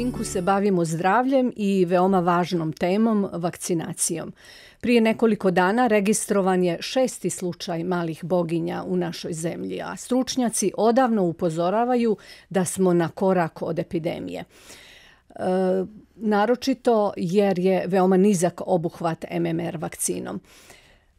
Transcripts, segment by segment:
Pinku se bavimo zdravljem i veoma važnom temom, vakcinacijom. Prije nekoliko dana registrovan je 6. slučaj malih boginja u našoj zemlji, a stručnjaci odavno upozoravaju da smo na korak od epidemije. Naročito jer je veoma nizak obuhvat MMR vakcinom.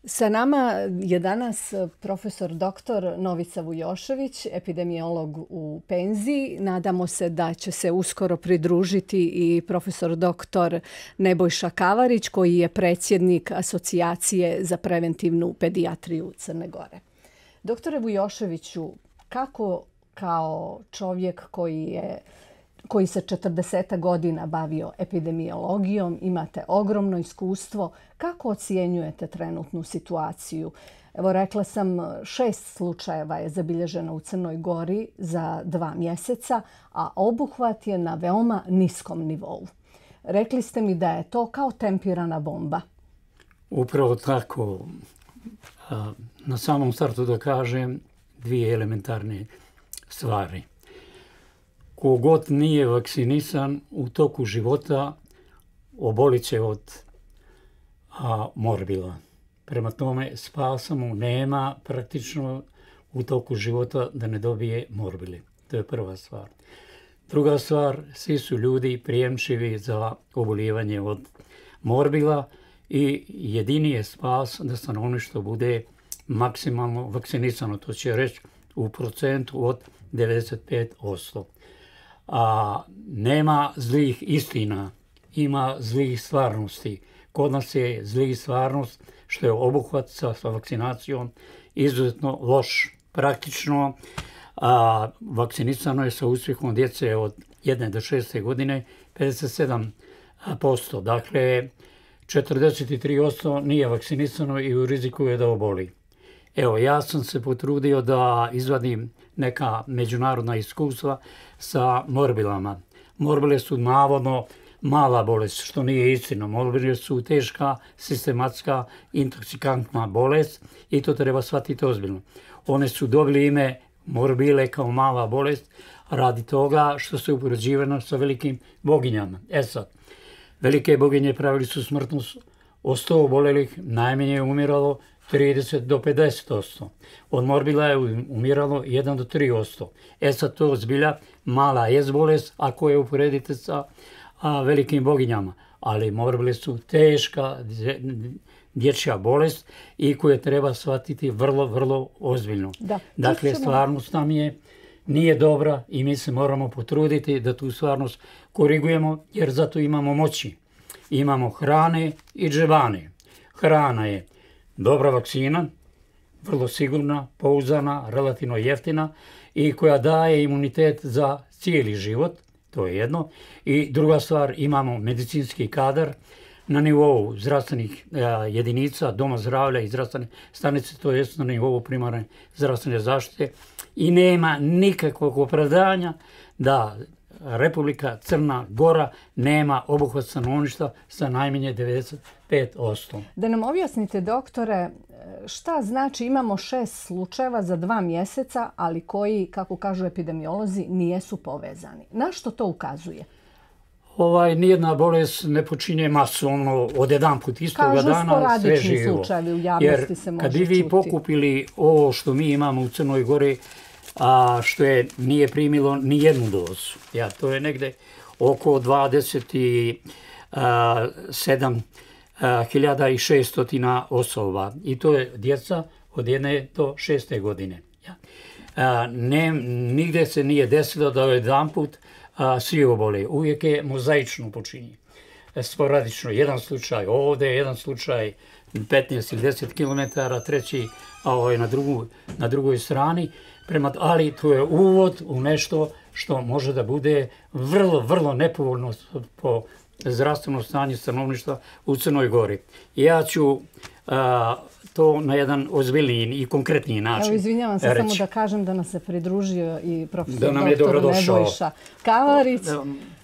Sa nama je danas profesor dr. Novica Vujošević, epidemiolog u penziji. Nadamo se da će se uskoro pridružiti i profesor dr. Nebojša Kavarić, koji je predsjednik Asocijacije za preventivnu pedijatriju Crne Gore. Doktore Vujoševiću, kako kao čovjek koji se 40 godina bavio epidemiologijom, imate ogromno iskustvo, kako ocjenjujete trenutnu situaciju? Evo, rekla sam, 6 slučajeva je zabilježeno u Crnoj Gori za 2 mjeseca, a obuhvat je na veoma niskom nivou. Rekli ste mi da je to kao tempirana bomba. Upravo tako. Na samom startu da kažem 2 elementarne stvari. Kogod nije vakcinisan u toku života obolit će od morbila. Prema tome, spasa mu nema praktično u toku života da ne dobije morbili. To je prva stvar. Druga stvar, svi su ljudi prijemčivi za obolijevanje od morbila i jedini je spas da stanovništvo bude maksimalno vakcinisano. To će reći u procentu od 95%. Nema zlih istina, ima zlih stvarnosti. Kod nas je zlih stvarnost što je obuhvat sa vakcinacijom izuzetno loš. Praktično vakcinisano je sa uspjehom djece od 1 do 6 godine 57%. Dakle, 43% nije vakcinisano i u riziku je da oboli. Evo, ja sam se potrudio da izvadim neka međunarodna iskustva sa morbilama. Morbile su navodno mala bolest, što nije istina. Morbile su teška, sistematska, intoksikantna bolest i to treba shvatiti ozbiljno. One su dobili ime morbile kao mala bolest radi toga što se upoređivano sa velikim boginjama. Sad, velike boginje pravili su smrtnost od 100 obolelih, najmanje je umiralo 30 do 50%. Od morbila je umiralo 1 do 3%. Sad to zbilja mala je bolest ako je uporedite sa velikim boginjama. Ali morbile su teška dječja bolest i koju treba shvatiti vrlo, vrlo ozbiljno. Dakle, stvarnost nam nije dobra i mi se moramo potruditi da tu stvarnost korigujemo jer zato imamo moći. Imamo hrane i džebane. Hrana je dobra vakcina, vrlo sigurna, pouzdana, relativno jeftina i koja daje imunitet za cijeli život, to je jedno. I druga stvar, imamo medicinski kadar na nivou zdravstvenih jedinica, doma zdravlja i zdravstvene stanice, to je na nivou primarne zdravstvene zaštite i nema nikakvog opravdanja da Republika Crna Gora nema obuhvat stanovništva sa najmanje 95%. Da nam objasnite, doktore, šta znači imamo 6 slučajeva za 2 mjeseca, ali koji, kako kažu epidemiolozi, nijesu povezani. Na što to ukazuje? Nijedna bolest ne počinje masovno od jedan put istoga dana sve živo. Kažu sporadični slučajevi, u javnosti se može čuti. Kad bi vi pokupili ovo što mi imamo u Crnoj Gori, što nije primilo ni jednu dozu. To je negde oko 27.600 osoba. I to je djeca od 1 do 6 godine. Nigde se nije desilo da jedan put svi obole. Uvijek je mozaično počinje. Sporadično. Jedan slučaj ovdje, jedan slučaj 15 ili 10 km, treći na drugoj strani. Ali to je uvod u nešto što može da bude vrlo, vrlo nepovoljno po zdravstveno stanje stanovništva u Crnoj Gori. Ja ću to na jedan ozbiljniji i konkretniji način reći. Izvinjavam se, samo da kažem da nas se pridružio i profesor dr. Nebojša Kavarić.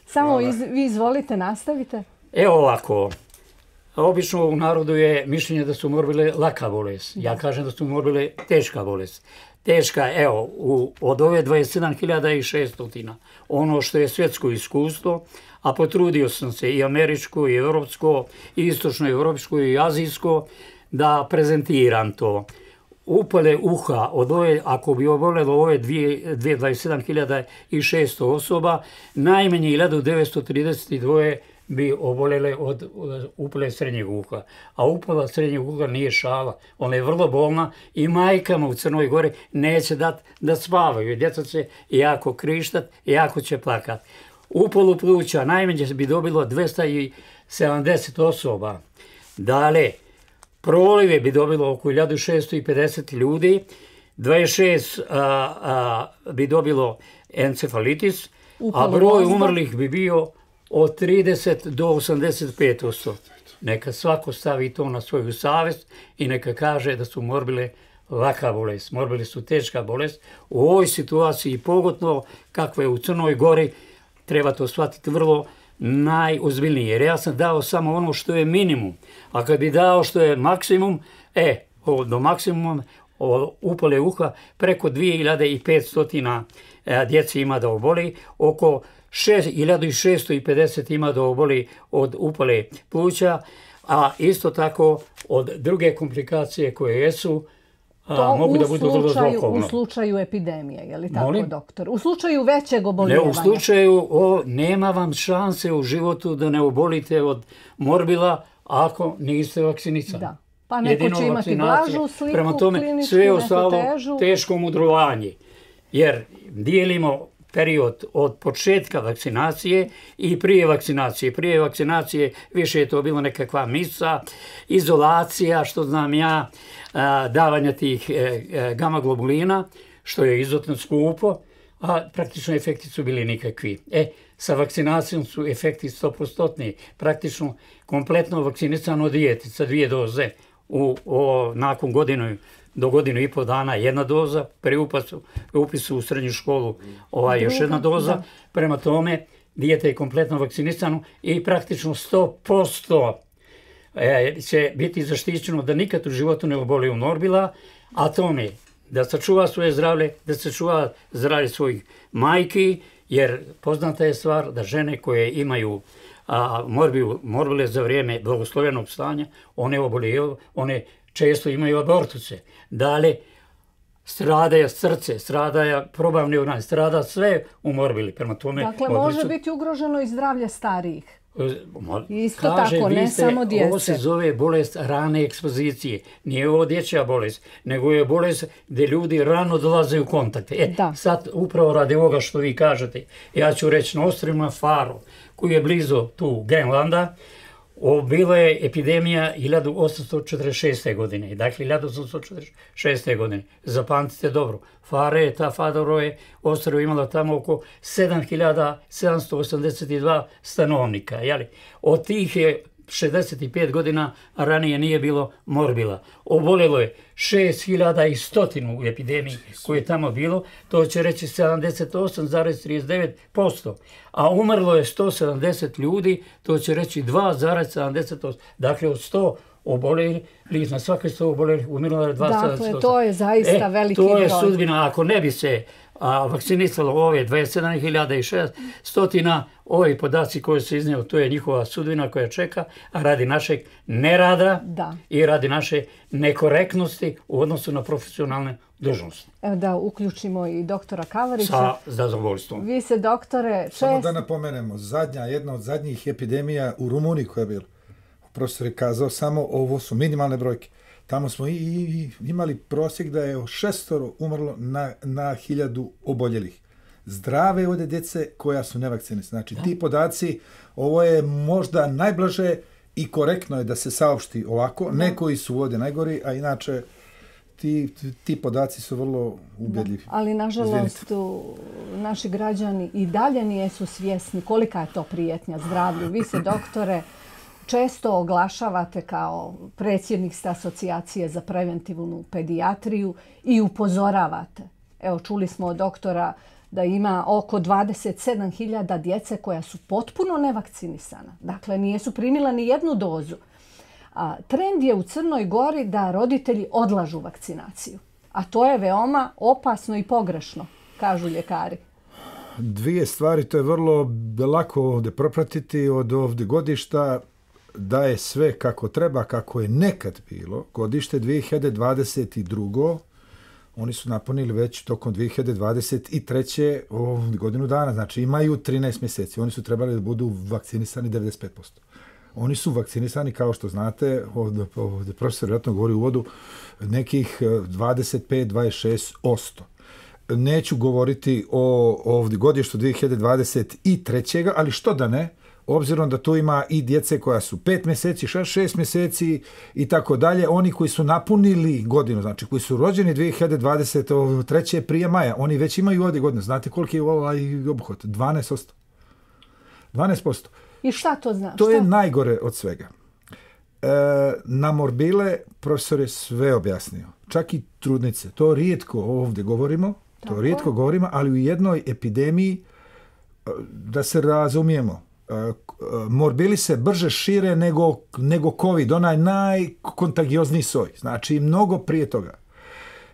Samo vi izvolite, nastavite. Evo ovako. Obično u narodu je mišljenje da su morbile laka bolest. Ja kažem da su morbile teška bolest. teška, evo, od ove 27.600, ono što je svjetsko iskustvo, a potrudio sam se i američko, i europsko, i istočno-evropsko, i azijsko, da prezentiram to. Upale uha, ako bi oboljelo ove 27.600 osoba, najmanje 1932 bi oboljele od upale srednjeg uha. A upala srednjeg uha nije šala, ona je vrlo bolna i majkama u Crnoj Gori neće dati da spavaju. Djeca će jako krištat, jako će plakat. Upalu pluća najmanje bi dobilo 270 osoba. Dalje, prolive bi dobilo oko 1650 ljudi, 26 bi dobilo encefalitis, a broj umrlih bi bio od 30 do 85%. Neka svako stavi to na svoju savjest i neka kaže da su morbile laka bolest. Morbili su teška bolest. U ovoj situaciji, pogotovo kakva je u Crnoj Gori, treba to shvatiti vrlo najozbiljnije. Jer ja sam dao samo ono što je minimum. A kad bi dao što je maksimum, do maksimuma upale uha preko 2500 djeci ima da oboli, oko 1650 ima da oboli od upale pluća, a isto tako od druge komplikacije koje jesu, mogu da budu vrlo zlokovno. U slučaju epidemije, je li tako, doktor? U slučaju većeg oboljevanja? Ne, u slučaju nema vam šanse u životu da ne obolite od morbila ako niste vakcinisani. Da. Pa neko će imati blažu sliku, prema tome, sve ostalo teško mudrovanje. Jer dijelimo period od početka vakcinacije i prije vakcinacije. Prije vakcinacije više je to bilo nekakva misa, izolacija, što znam ja, davanja tih gama globulina, što je izuzetno skupo, a praktično efekti su bili nikakvi. Sa vakcinacijom su efekti 100%. Praktično kompletno vakcinisano dijete sa 2 doze nakon do godinu i pol dana 1 doza, pri upisu u srednju školu još 1 doza. Prema tome, dijete je kompletno vakcinisano i praktično 100% će biti zaštićeno da nikad u životu ne oboli od morbila, a tome da sačuva svoje zdravlje, da sačuva zdravlje svojih majki, jer poznata je stvar da žene koje imaju morbile za vrijeme blagoslovenog stanja, one često imaju abortuse. Dalje, stradaje srce, stradaje probavni organ, strada sve u morbili. Prema tome, dakle, može biti ugroženo i zdravlje starijih. Isto tako, ne samo djece. Ovo se zove bolest rane ekspozicije. Nije ovo dječja bolest, nego je bolest gdje ljudi rano dolaze u kontakte. Sad, upravo radi ovoga što vi kažete, ja ću reći na ostrvima Faro, koji je blizu tu Grenlanda, bila je epidemija 1846. godine. Dakle, 1846. godine. Zapamtite dobro. Faro je ostrvo imalo tamo oko 7.782 stanovnika. Od tih je 65 godina ranije nije bilo morbila. Oboljelo je 6.100 u epidemiji koje je tamo bilo, to će reći 78,39%. A umrlo je 170 ljudi, to će reći 2,78%. Dakle, od 100 oboljelih, na svake 100 oboljelih umrlo je 2,78%. Dakle, to je zaista veliki broj. To je sudbina, ako ne bi se vakcinisalo ove 27.600, ovi podaci koji se iznio, to je njihova sudbina koja čeka, a radi našeg nerada i radi naše nekorektnosti u odnosu na profesionalne dužnosti. Evo da uključimo i doktora Kavarića. Sa zadovoljstvom. Vi se, doktore, samo da napomenemo, jedna od zadnjih epidemija u Rumuniji koja je bila, profesor je kazao, samo ovo su minimalne brojke. Tamo smo i imali prosjek da je 6 umrlo na 1000 oboljelih. Zdrave ovdje djece koja su nevakcinisane. Znači, ti podaci, ovo je možda najblaže i korektno je da se saopšti ovako. Ne koji su ovdje najgori, a inače ti podaci su vrlo ubedljivi. Ali, nažalost, naši građani i dalje nisu svjesni kolika je to prijetnja zdravlju. Vi se, doktore, često oglašavate kao predsjednik ste asocijacije za preventivnu pedijatriju i upozoravate. Evo, čuli smo od doktora da ima oko 27.000 djece koja su potpuno nevakcinisana. Dakle, nisu primila ni 1 dozu. Trend je u Crnoj Gori da roditelji odlažu vakcinaciju. a to je veoma opasno i pogrešno, kažu ljekari. Dvije stvari, to je vrlo lako ovdje propratiti od ovdje godišta, da je sve kako treba, kako je nekad bilo. Godište 2022. Oni su napunili već tokom 2023. godinu dana, znači imaju 13 mjeseci. Oni su trebali da budu vakcinisani 95%. Oni su vakcinisani, kao što znate, ovdje profesor vjerojatno govori u uvodu, nekih 25-26%. Neću govoriti o ovdje godištu 2023. ali što da ne, obzirom da tu ima i djece koja su 5 mjeseci, 6 mjeseci i tako dalje, oni koji su napunili godinu, znači koji su rođeni 2023. prije maja, oni već imaju ovdje godinu. Znate koliki je ovaj obuhvat? 12%. 12%. I šta to znači? To je najgore od svega. Na morbile profesor je sve objasnio. Čak i trudnice. To rijetko ovdje govorimo, ali u jednoj epidemiji, da se razumijemo, morbili se brže šire nego COVID, onaj najkontagiozniji soj. Znači, mnogo prije toga.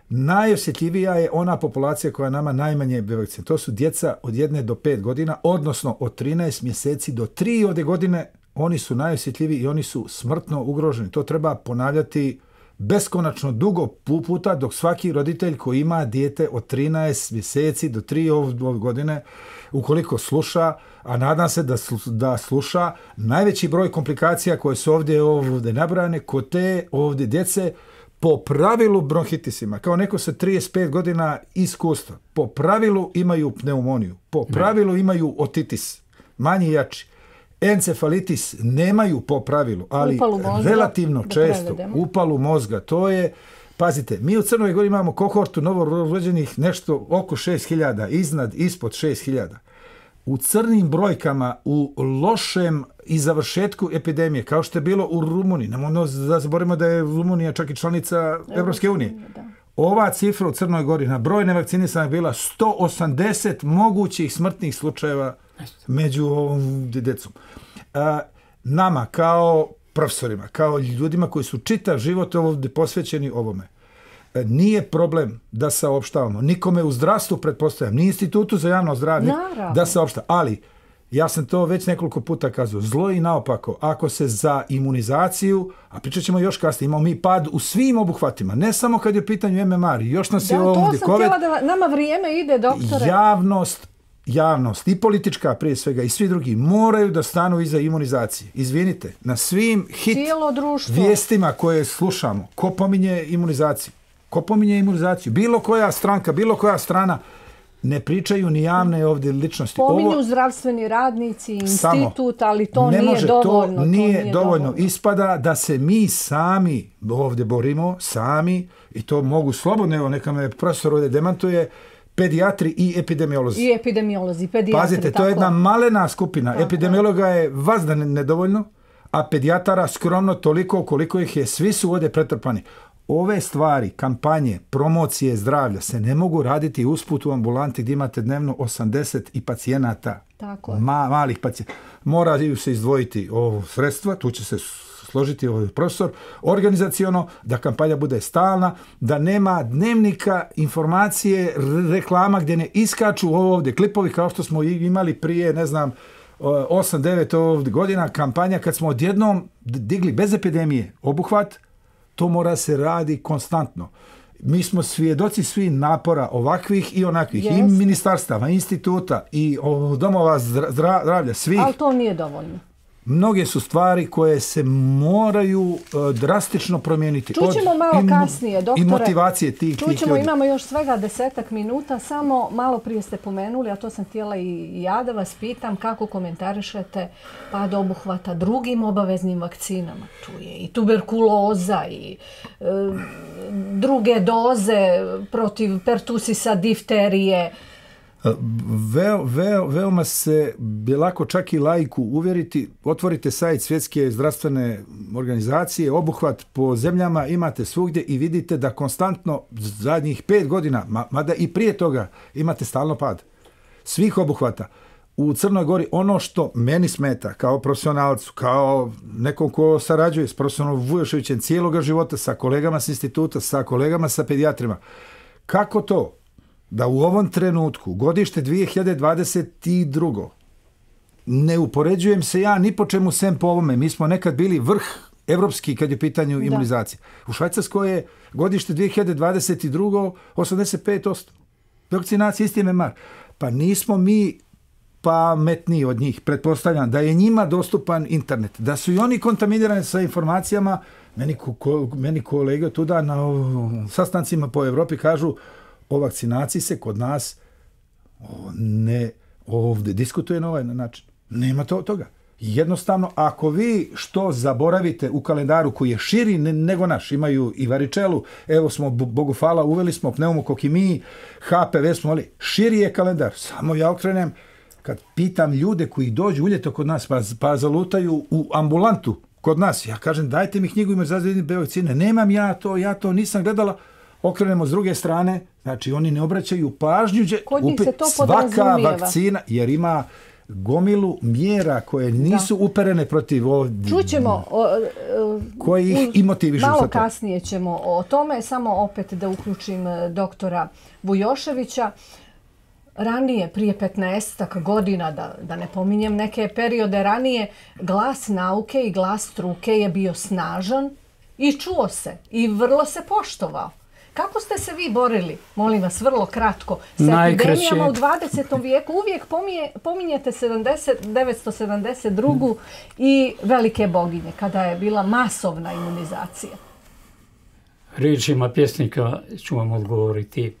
Najosjetljivija je ona populacija koja nama najmanje vakcina. To su djeca od 1 do 5 godina, odnosno od 13 mjeseci do 3 godine. Oni su najosjetljiviji i oni su smrtno ugroženi. To treba ponavljati beskonačno dugo puta, dok svaki roditelj koji ima dijete od 13 mjeseci do 3 godine, ukoliko sluša, a nadam se da sluša, najveći broj komplikacija koje su ovdje nabrane kod te ovdje djece, po pravilu bronhitisima, kao neko sa 35 godina iskustva, po pravilu imaju pneumoniju, po pravilu imaju otitis, manji i jači. Encefalitis nemaju po pravilu, ali relativno često upalu mozga. To je, pazite, mi u Crnoj Gori imamo kohortu novorođenih nešto oko 6.000, ispod 6.000. U crnim brojkama, u lošem i završetku epidemije, kao što je bilo u Rumuniji, nemojmo da zaboravimo da je Rumunija čak i članica Evropske unije. Ova cifra u Crnoj Gori na broj nevakcinisanih bila 180 mogućih smrtnih slučajeva među djecom. Nama kao profesorima, kao ljudima koji su čitav život ovdje posvećeni ovome, nije problem da saopštavamo. Nikome u zdravstvu, pretpostavljam, ni Institutu za javno zdravlje, da saopšta. Ali, ja sam to već nekoliko puta kazao, zlo i naopako, ako se za imunizaciju, a pričat ćemo još kasnije, imamo mi pad u svim obuhvatima, ne samo kad je u pitanju MMR, još nas je ovdje COVID. Da, to sam htjela da nama vrijeme ide, doktore. Javnost i politička prije svega i svi drugi moraju da stanu iza imunizacije. Izvinite, na svim vijestima koje slušamo, ko pominje imunizaciju? Bilo koja stranka, bilo koja strana, ne pričaju ni javne ovdje ličnosti. Pominju zdravstveni radnici, institut, ali to nije dovoljno. To nije dovoljno. Ispada da se mi sami ovdje borimo, sami, i to mogu slobodno, evo neka me profesor ovdje demantuje, pedijatri i epidemiolozi. Pedijatri. Pazite, to je jedna malena skupina. Epidemiologa je vazda nedovoljno, a pedijatara skromno toliko koliko ih je. Svi su ovdje pretrpani. Ove stvari, kampanje, promocije zdravlja se ne mogu raditi usput u ambulanti gdje imate dnevno 80 i pacijenata. Malih pacijenata. Moraju se izdvojiti sredstva, tu će se složiti profesor, organizaciono, da kampanja bude stalna, da nema dnevnika, informacije, reklama gdje ne iskaču ovdje klipovi kao što smo imali prije, 8-9 godina kampanja kad smo odjednom digli bez epidemije obuhvat. To mora se radi konstantno. Mi smo svjedoci svi napora ovakvih i onakvih, i ministarstava, instituta, i domova zdravlja, svih. Ali to nije dovoljno. Mnoge su stvari koje se moraju drastično promijeniti. Čućemo malo kasnije, doktore. I motivacije tih ljudi. Imamo još svega 10 minuta, samo malo prije ste pomenuli, a to sam htjela i ja da vas pitam, kako komentarišete pad obuhvata drugim obaveznim vakcinama. Tu je i tuberkuloza i druge doze protiv pertusisa, difterije. Veoma se je lako čak i laiku uvjeriti. Otvorite sajt Svjetske zdravstvene organizacije, obuhvat po zemljama imate svugdje i vidite da konstantno zadnjih 5 godina, mada i prije toga, imate stalno pad svih obuhvata. U Crnoj Gori ono što meni smeta kao profesionalcu, kao nekom ko sarađuje s profesorom Vujoševićem cijeloga života, sa kolegama s instituta, sa kolegama sa pedijatrima, Kako to da u ovom trenutku, godište 2022. ne upoređujem se ja ni po čemu sem po ovome. Mi smo nekad bili vrh evropski kad je pitanju imunizacije. U Švajcarskoj je godište 2022. 85%. Vakcinacija isti MMR. Pa nismo mi pametniji od njih. Pretpostavljam da je njima dostupan internet. Da su i oni kontaminirani sa informacijama. Meni kolege tuda na sastancima po Evropi kažu o vakcinaciji se kod nas ne ovdje diskutuje na ovaj način. Nema toga. Jednostavno, ako vi što zaboravite u kalendaru koji je širi nego naš, imaju i varičelu, evo smo, Bogu hvala, uveli smo pneumokokimiji, HPV smo, ali širi je kalendar. Samo ja okrenem, kad pitam ljude koji dođu uljeto kod nas, pa zalutaju u ambulantu kod nas, ja kažem, dajte mi knjigu ima zazivljeni vakcine. Nemam ja to nisam gledala. Okrenemo s druge strane, znači oni ne obraćaju pažnju, svaka vakcina, jer ima gomilu mjera koje nisu uperene protiv ovdje. Čućemo, koji ih i motivišu. Malo kasnije ćemo o tome, samo opet da uključim doktora Vujoševića. Ranije, prije 15 godina, da ne pominjem neke periode ranije, glas nauke i glas struke je bio snažan i čuo se i vrlo se poštovao. Kako ste se vi borili, molim vas, vrlo kratko, sa epidemijama u 20. vijeku? Uvijek pominjete 1972. i velike boginje, kada je bila masovna imunizacija. Riječima pjesnika ću vam odgovoriti.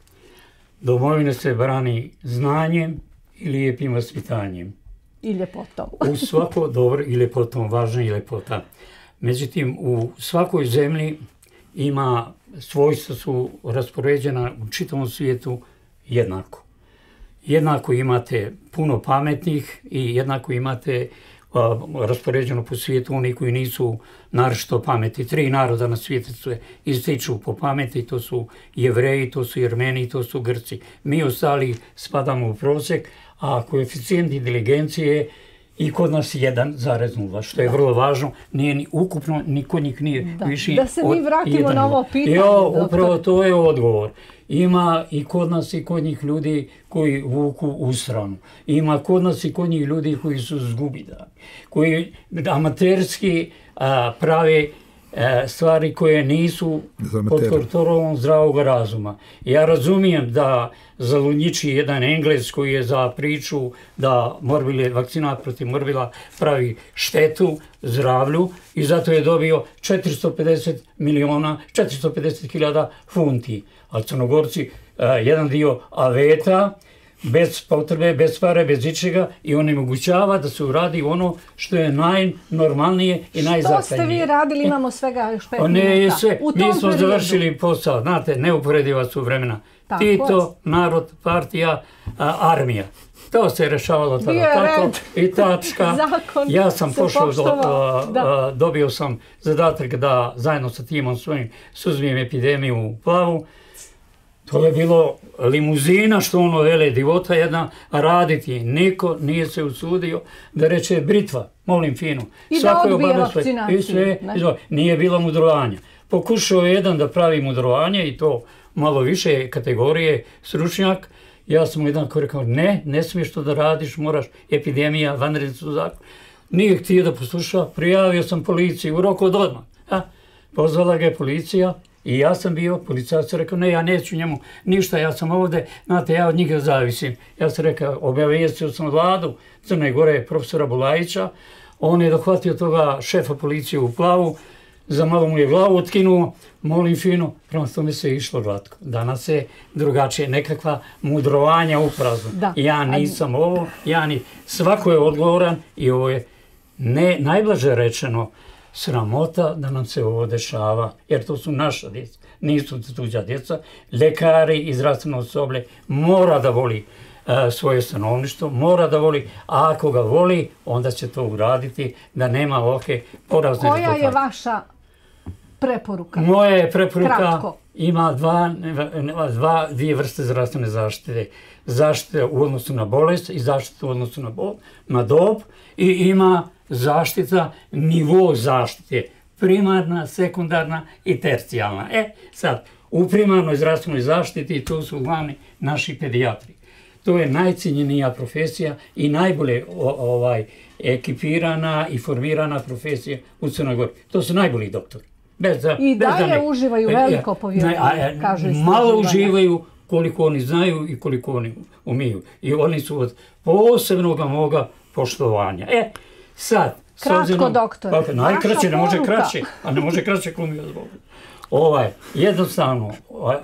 Domovina se brani znanjem i lijepim vaspitanjem. I ljepotom. U svako dobro i ljepotom, važna i ljepota. Međutim, u svakoj zemlji ima svojstva su raspoređena u čitavom svijetu jednako. Jednako imate puno pametnih i jednako imate raspoređeno po svijetu oni koji nisu naročito pameti. 3 naroda na svijetu se ističu po pameti, to su Jevreji, to su Jermeni, to su Grci. Mi ostali spadamo u prosjek, a koeficijent inteligencije i kod nas 1,0, što je vrlo važno, nije ni ukupno, ni kod njih nije viši. Da se mi vratimo na ovo pitanje. Upravo to je odgovor. Ima i kod nas i kod njih ljudi koji vuku u stranu. Ima kod nas i kod njih ljudi koji su zgubidani, koji amaterski prave stvari koje nisu pod kontrolom zdravog razuma. Ja razumijem da zalunjiči jedan Englez koji je za priču da vakcinat protiv morbila pravi štetu zdravlju i zato je dobio 450.000 funti. A Crnogorci jedan dio aveta, bez potrebe, bez pare, bez ičega i onemogućava da se uradi ono što je najnormalnije i najzakladnije. Što ste vi radili, imamo svega još 5 minuta. Mi smo završili posao, znate, neuporediva su vremena. Tito, narod, partija, armija. To se rešavalo tada tako i tačka. Ja sam pošao, dobio sam zadatak da zajedno sa timom svojim suzbijem epidemiju u Plavu. To je bilo limuzina, što ono vele, divota jedna, raditi. Niko nije se usudio da reče britva, molim finu. I da odbije vakcinaciju. Nije bilo mudrovanja. Pokušao je jedan da pravi mudrovanje i to malo više kategorije stručnjak. Ja sam mu jedan ko rekao, ne smiješ to da radiš, moraš, epidemija, vanredni su zakon. Nije htio da posluša, prijavio sam policiji u roku od odmah. Pozvala ga je policija. I ja sam bio, policajac je rekao, ja neću njemu ništa, ja sam ovdje, znate, ja od njega zavisim. Ja sam rekao, obavijestio sam vladu Crne Gore, profesora Bulajića, on je dohvatio toga šefa policije u Plavu, za malo mu je glavu otkinuo, molim fino, prema tome se išlo glatko. Danas je drugačije, nekakva mudrovanja u praznu. Ja nisam ovo, svako je odgovoran i ovo je najblaže rečeno, sramota da nam se ovo dešava, jer to su naša djeca, nisu tuđa djeca. Lekari i zdravstveno osoblje mora da voli svoje stanovništvo, mora da voli, a ako ga voli, onda će to uraditi, da nema ovakve porazne rezultate. Koja je vaša preporuka? Moja je preporuka, ima dvije vrste zdravstvene zaštite. Zaštite u odnosu na bolest i zaštite u odnosu na dob i ima zaštita, nivo zaštite, primarna, sekundarna i tercijalna. Sad, U primarnoj zdravstvenoj zaštiti to su glavni naši pedijatri. To je najcijenjenija profesija i najbolje ekipirana i formirana profesija u Crnoj Gori. To su najbolji doktori. I dalje uživaju veliko povjerenje, kažu istraživanja. Malo uživaju koliko oni znaju i koliko oni umiju. I oni su od posebnog moga poštovanja. Sad, kratko, doktore. Najkraće, ne može kraće, a ne može kraće ko mi odgovorio. Jednostavno,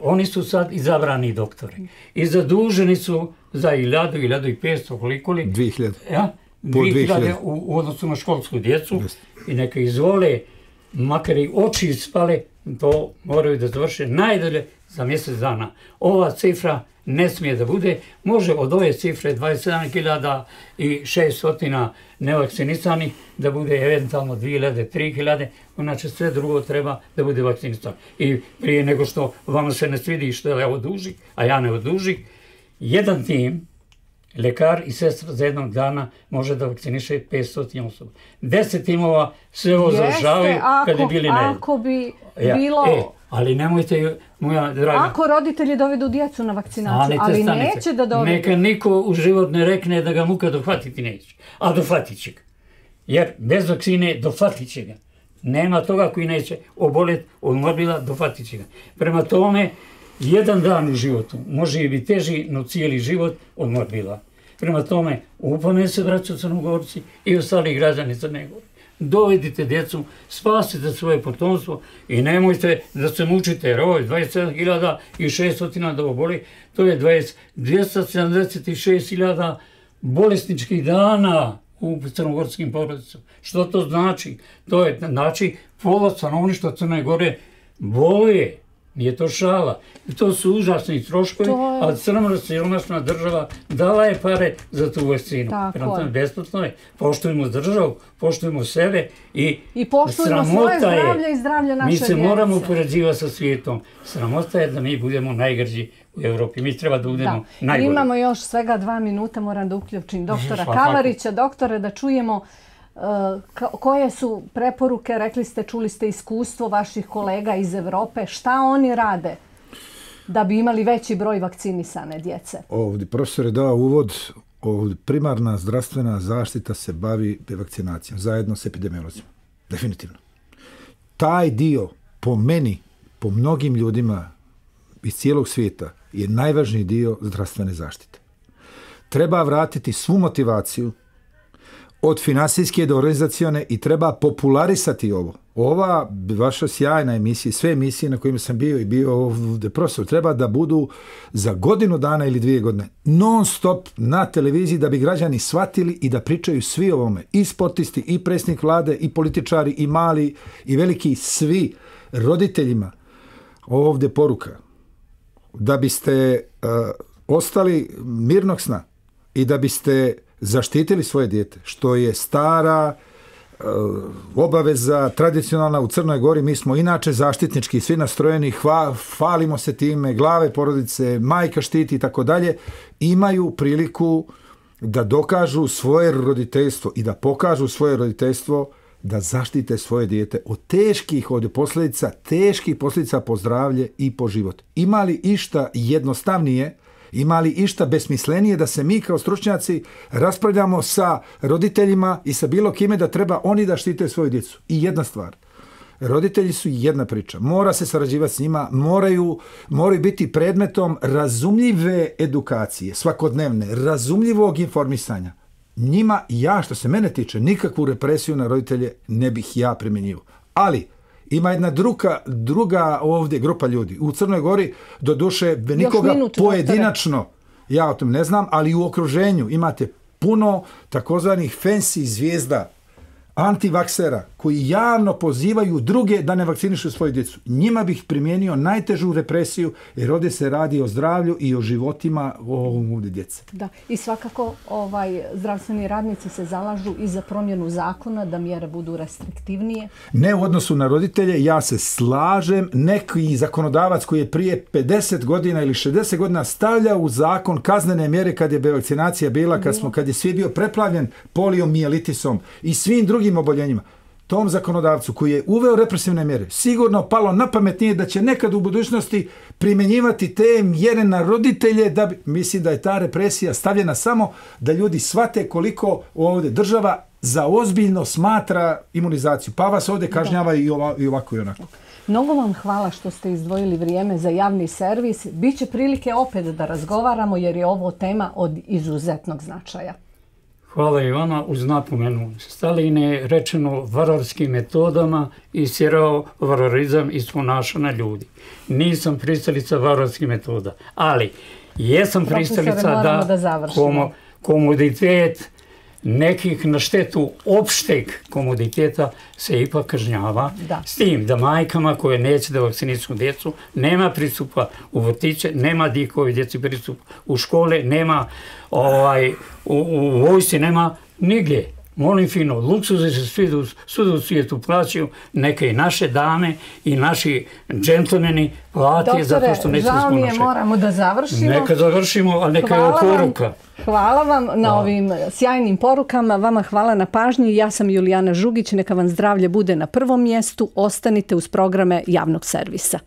oni su sad izabrani doktori i zaduženi su za 1500, koliko li? 2000. 2000 u odnosu na školsku djecu i neka izvole, makar i oči ispale, to moraju da završe najdalje za mjesec dana. Ova cifra ne smije da bude, može od ove cifre 27.600 nevakcinisani da bude eventualno 2000, 3000, znači sve drugo treba da bude vakcinisano. I prije nego što vama se ne svidi što ja odužih, a ja ne odužih, jedan tim, lekar i sestra za jednog dana može da vakciniše 500 osoba. 10 timova sve ovo završavaju kad je bili na Ako bi bilo... Ali nemojte, moja draga... Ako roditelji dovedu djecu na vakcinaciju, ali neće da dovedu... Neka niko u život ne rekne da ga muka dohvatiti neće, a dohvatit će ga. Jer bez vakcine dohvatit će ga. Nema toga koji neće oboljeti od morbila, dohvatit će ga. Prema tome, jedan dan u životu može biti teži, no cijeli život od morbila. Prema tome, upomene se, braćo Crnogorci i ostali građani Crne Gore. Dovedite djecu, spasite svoje potomstvo i nemojte da se mučite, jer ovo je 27.600 da oboli, to je 276.000 bolesničkih dana u crnogorskim porodicama. Što to znači? To je znači pola stanovništva Crne Gore boluje. Nije to šala. I to su užasni troškovi, a siromašna država dala je pare za tu vakcinu. Prema tome, besplatno je. Poštujemo državu, poštujemo sebe i poštujemo svoje zdravlje i zdravlje naše djece. Mi se moramo upoređivati sa svijetom. Sramota je da mi budemo najgrđi u Evropi. Mi treba da budemo najgori. Imamo još svega 2 minuta, moram da uključim doktora Kavarića. Doktore, da čujemo koje su preporuke, rekli ste, čuli ste iskustvo vaših kolega iz Evrope, šta oni rade da bi imali veći broj vakcinisane djece? Ovdje profesor je dao uvod, primarna zdravstvena zaštita se bavi vakcinacijom, zajedno s epidemiolozima. Definitivno. Taj dio, po meni, po mnogim ljudima iz cijelog svijeta, je najvažniji dio zdravstvene zaštite. Treba vratiti svu motivaciju od finansijske do organizacione i treba popularisati ovo. Ova vaša sjajna emisija, sve emisije na kojima sam bio i bio ovdje profesor, treba da budu za godinu dana ili 2 godine non stop na televiziji da bi građani shvatili i da pričaju svi o ovome. I sportisti, i predsjednik vlade, i političari, i mali, i veliki, svi roditeljima. Ovdje poruka. Da biste ostali mirnog sna i da biste zaštitili svoje dijete, što je stara obaveza, tradicionalna u Crnoj Gori. Mi smo inače zaštitnički, svi nastrojeni, hvalimo se time, glave porodice, majka štiti i tako dalje, imaju priliku da dokažu svoje roditeljstvo i da pokažu svoje roditeljstvo, da zaštite svoje dijete od teških posljedica po zdravlje i po život. Ima li išta jednostavnije, ima li išta besmislenije da se mi kao stručnjaci raspravljamo sa roditeljima i sa bilo kime da treba oni da štite svoju djecu? I jedna stvar. Roditelji su jedna priča. Mora se sarađivati s njima, moraju biti predmetom razumljive edukacije, svakodnevne, razumljivog informisanja. Njima, što se mene tiče, nikakvu represiju na roditelje ne bih ja primjenjivao. Ali ima jedna druga ovdje grupa ljudi. U Crnoj Gori, doduše, nikoga pojedinačno, ja o tom ne znam, ali u okruženju imate puno takozvanih fancy zvijezda, antivaksera, koji javno pozivaju druge da ne vakcinišu svoju djecu. Njima bih primijenio najtežu represiju, jer ovdje se radi o zdravlju i o životima ovdje djece. Da, i svakako zdravstveni radnici se zalažu i za promjenu zakona, da mjere budu restriktivnije. Ne u odnosu na roditelje, ja se slažem, neki zakonodavac koji je prije 50 godina ili 60 godina stavljao u zakon kaznene mjere kad je vakcinacija bila, kad je svijet bio preplavljen poliomijelitisom i svim drugim oboljenjima. tom zakonodavcu koji je uveo represivne mjere sigurno palo na pamet nije da će nekad u budućnosti primjenjivati te mjere na roditelje, mislim da je ta represija stavljena samo da ljudi shvate koliko ovdje država za ozbiljno smatra imunizaciju, pa vas ovdje kažnjava i ovako i onako. Mnogo vam hvala što ste izdvojili vrijeme za javni servis. Biće prilike opet da razgovaramo jer je ovo tema od izuzetnog značaja. Hvala i vama uz napomenu. Stalin je rečeno vararskim metodama istjerao vararizam iz ponašanja ljudi. Nisam pristalica vararskih metoda, ali jesam pristalica da komoditet nekih na štetu opšteg komoditeta se ipak kažnjava. S tim da majkama koje neće da vakcinišu djecu nema pristupa u vrtiće, nema dikovi djeci pristup u škole, nema u vojsci, nema nigdje. Molim fino, luksuze se svuda u svijetu plaćaju, neka i naše dame i naši džentlmeni plati zato što neće da Doktore, žao mi je, moramo da završimo. Neka završimo, ali neka je poruka. Hvala vam na ovim sjajnim porukama. Vama hvala na pažnji. Ja sam Julijana Žugić. Neka vam zdravlje bude na prvom mjestu. Ostanite uz programe javnog servisa.